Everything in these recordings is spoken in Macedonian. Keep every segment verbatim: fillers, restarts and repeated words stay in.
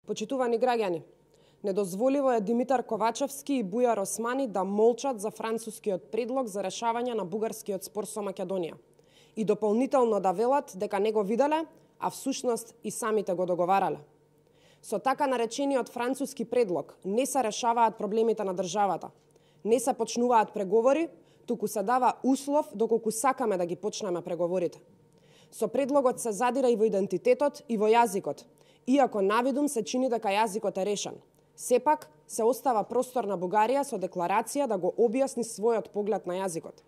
Почитувани граѓани, недозволиво е Димитар Ковачевски и Бујар Османи да молчат за францускиот предлог за решавање на бугарскиот спор со Македонија и дополнително да велат дека не го виделе, а всушност и самите го договарале. Со така наречениот француски предлог не се решаваат проблемите на државата, не се почнуваат преговори, туку се дава услов доколку сакаме да ги почнеме преговорите. Со предлогот се задира и во идентитетот и во јазикот, иако навидум се чини дека јазикот е решен. Сепак се остава простор на Бугарија со декларација да го објасни својот поглед на јазикот.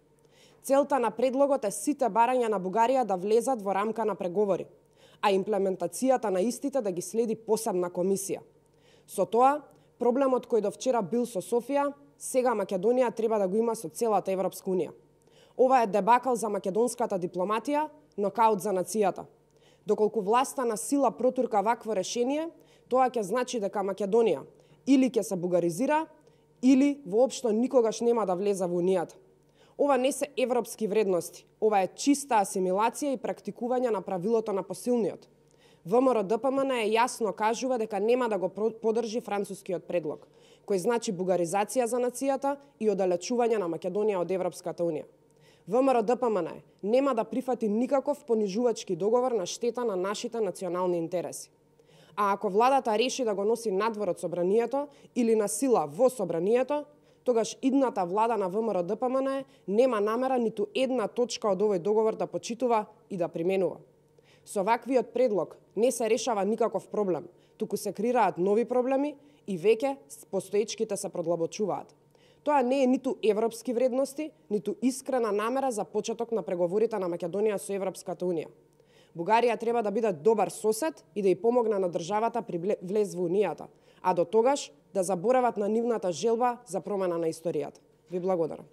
Целта на предлогот е сите барања на Бугарија да влезат во рамка на преговори, а имплементацијата на истите да ги следи посебна комисија. Со тоа, проблемот кој до вчера бил со Софија, сега Македонија треба да го има со целата Европска унија. Ова е дебакал за македонската дипломатија, нокаут за нацијата. Доколку власта на сила протурка вакво решение, тоа ќе значи дека Македонија или ќе се бугаризира, или воопшто никогаш нема да влезе во Унијата. Ова не се европски вредности, ова е чиста асимилација и практикување на правилото на посилниот. ВМРО-ДПМН е јасно кажува дека нема да го поддржи францускиот предлог, кој значи бугаризација за нацијата и оддалечување на Македонија од Европската унија. ВМРО-ДПМН нема да прифати никаков понижувачки договор на штета на нашите национални интереси. А ако владата реши да го носи надвор од собранието или на сила во собранието, тогаш идната влада на ВМРО-ДПМН нема намера ниту една точка од овој договор да почитува и да применува. Со ваквиот предлог не се решава никаков проблем, туку се креираат нови проблеми и веќе постоечките се продлабочуваат. Тоа не е ниту европски вредности, ниту искрена намера за почеток на преговорите на Македонија со Европската унија. Бугарија треба да биде добар сосед и да ја помогне на државата при влез во Унијата, а до тогаш да заборават на нивната желба за промена на историјата. Ви благодарам.